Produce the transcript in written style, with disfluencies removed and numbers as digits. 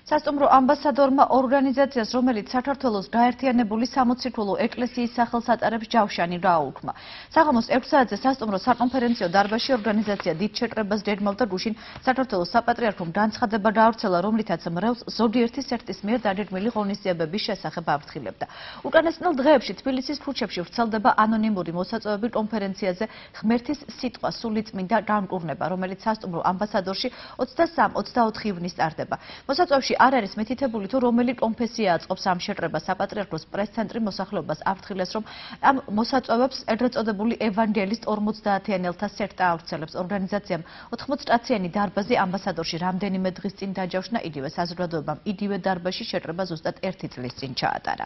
სასტუმრო ამბასადორმა ორგანიზაციას, რომელიც საქართველოს გაერთიანებული სამოციქულო ეკლესიის სახელს ატარებს, ჯავშანი გააუქმა. საღამოს 6 საათზე სასტუმრო საკონფერენციო დარბაზში ორგანიზაცია დიდ შეკრებას გეგმავდა გუშინ საქართველოს საპატრიარქომ განცხადება გაავრცელა, რომლითაც მრევლს ზოგიერთი სექტის მიერ დაგეგმილი ღონისძიებების შესახებ აფრთხილებდა. უკანასკნელ დღეებში თბილისის ქუჩებში ვრცელდება ანონიმური მოსაწვევები კონფერენციაზე ღმერთის სიტყვა სულიწმინდა განკურნება, რომელიც სასტუმრო ამბასადორში 23-24 ივნისს ტარდება. მოსაწვევში არ არის მითითებული თუ რომელი კონფესია აწყობს ამ შეკრებას. საპატრიარქოს პრეს-ცენტრი მოსახლეობას აფრთხილებს, რომ ამ მოსაწვევებს ეგრეთ წოდებული ევანგელისტ 50-იანელთა სექტა ავრცელებს. ორგანიზაციამ 80-კაციანი დარბაზი ამბასადორში რამდენიმე დღის წინ დაჯავშნა, იგივე საზოგადოებამ იგივე დარბაზში შეკრება ზუსტად 1 წლის წინ ჩაატარა.